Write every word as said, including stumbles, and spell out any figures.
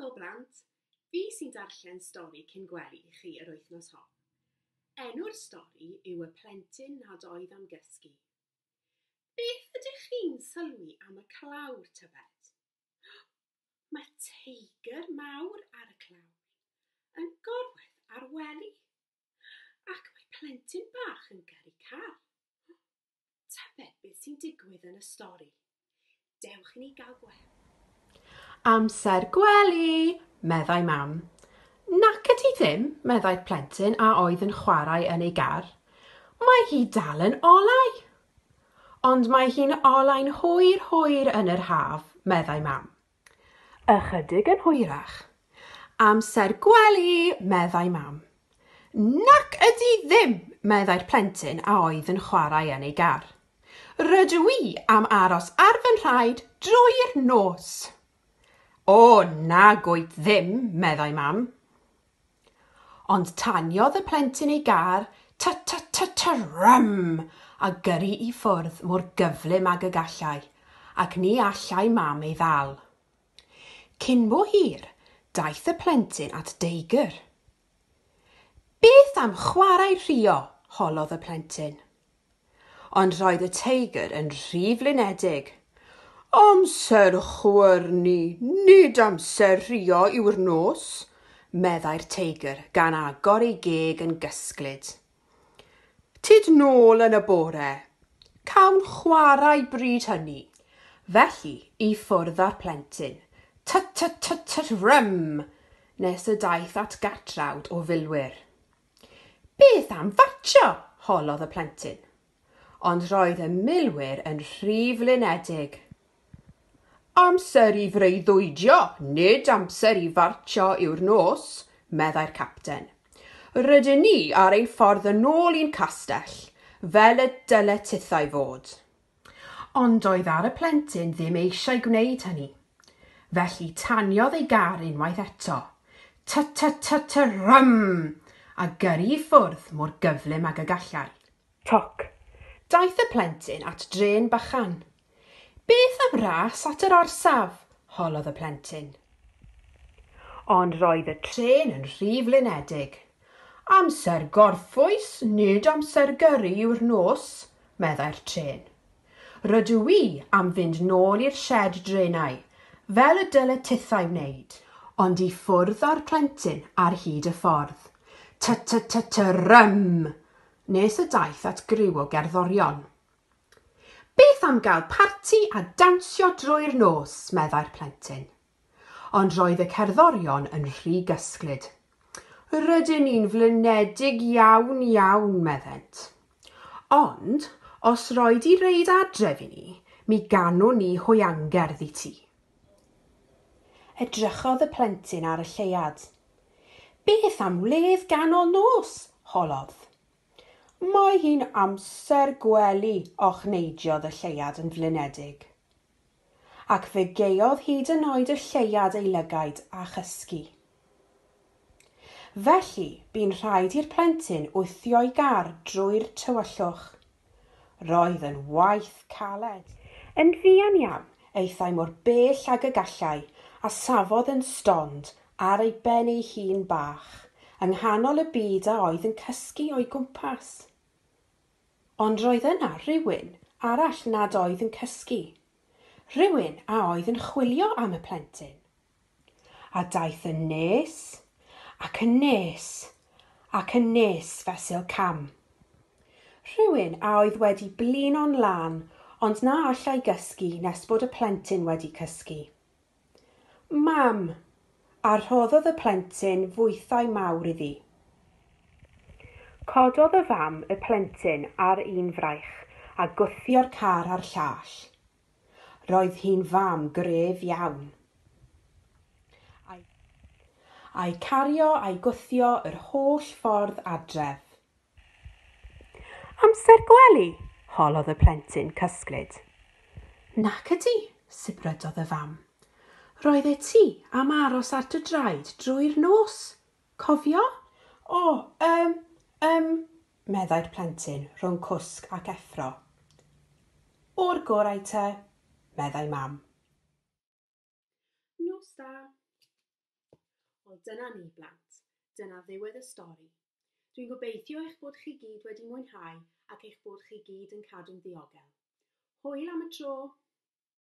Helo blant! Fi sy'n darllen stori cyn gwely i chi yr wythnos hon. Enw'r stori yw Y Plentyn Nad Oedd Am Gysgu. Beth ydych chi'n sylwi am y clawr tybed? Mae teigr mawr ar y clawr yn gorwedd ar wely ac mae plentyn bach yn gyrru car. Tybed beth sy'n digwydd yn y stori? Dewch i ni gael gweld. Amser gwely, meddai mam. Nac ydy ddim, meddai'r plentyn a oedd yn chwarae yn ei gar. Mae hi dal yn olau. Ond mae hi'n olau'n hwyr hwyr yn yr haf, meddai mam. Ychydig yn hwyrach. Amser gwely, meddai mam. Nac ydy ddim, meddai'r plentyn a oedd yn chwarae yn ei gar. Rydw i am aros ar fy nhraed drwy'r nos. O, nag wyt ddim, meddai mam. Ond taniodd y plentyn ei gar, ty-ty-ty-ty-rym, a gyrru i ffwrdd mor gyflym ag y gallai, ac ni allai mam ei ddal. Cyn bo hir, daeth y plentyn at deigr. Beth am chwarae rhuo? Holodd y plentyn. Ond roedd y teigr yn rhy flinedig. Amser chwyrnu, nid amser rhuo yw'r nos, meddai'r teigr gan agor ei geg yn gysglyd. Tyd nôl yn y bore. Cawn chwarae bryd hynny. Felly, i ffwrdd â'r plentyn. Ty-ty-ty-ty-rym! Nes y daeth at gatrawd o filwyr. Beth am fartsio? Holodd y plentyn. Ond roedd y milwyr yn rhy flinedig. Amser i freuddwydio, nid amser i fartsio yw'r nos, meddai'r capten. Rydyn ni ar ein ffordd yn ôl i'n castell, fel y dyle tithau fod. Ond doedd ar y plentyn ddim eisiau gwneud hynny. Felly taniodd ei gar unwaith eto. Ty-ty-ty-ty-rym! A gyrru i ffwrdd mor gyflym ag y gallai. Toc. Daeth y plentyn at drên bychan. Beth am ras at yr orsaf? Holodd y plentyn. Ond roedd y trên yn rhy flinedig. Amser gorffwys, nid amser gyrru yw'r nos, meddai'r trên. Rydw i am fynd nôl i'r sied drenau, fel y dyle tithau wneud. Ond i ffwrdd â'r plentyn ar hyd y ffordd. Ty-ty-ty-ty-rym! Nes y daeth at griw o gerddorion. Beth am gael parti a dawnsio drwy'r nos, meddai'r plentyn. Ond roedd y cerddorion yn rhy gysglyd. Rydyn ni'n flinedig iawn iawn, meddent. Ond, os roi di reid adref i ni, mi ganwn ni hwyangerdd i ti. Edrychodd y plentyn ar y lleuad. Beth am wledd ganol nos? Holodd. Mae hi'n amser gwely, ochneidiodd y lleuad yn flinedig. Ac fe gaeodd hyd yn oed y lleuad ei lygaid a chysgu. Felly, bu'n rhaid i'r plentyn wthio'i gar drwy'r tywyllwch. Roedd yn waith caled. Yn fuan iawn, aethai mor bell ag y gallai a safodd yn stond ar ei ben ei hun bach, yng nghanol y byd a oedd yn cysgu o'i gwmpas. Ond roedd yna rhywun arall nad oedd yn cysgu. Rhywun a oedd yn chwilio am y plentyn. A daeth yn nes, ac yn nes, ac yn nes fesul cam. Rhywun a oedd wedi blino'n lân, ond na allai gysgu nes bod y plentyn wedi cysgu. Mam! A rhoddodd y plentyn fwythau mawr iddi. Cododd y fam y plentyn ar un fraich a gwthio'r car ar llall. Roedd hi'n fam gref iawn. A'i cario a'i gwthio yr holl ffordd adref. Amser gwely? Holodd y plentyn cysglyd. Nac ydy, sibrydodd y fam. Roedd e ti am aros ar dy draed drwy'r nos. Cofio? O, yym, yym, meddai'r plentyn rhwng cwsg ac effro. O'r gorau te, meddai mam. Nos da. Wel, dyna ni, blant. Dyna ddiwedd y stori. Dwi'n gobeithio eich bod chi gyd wedi mwynhau ac eich bod chi gyd yn cadw'n ddiogel. Hwyl am y tro!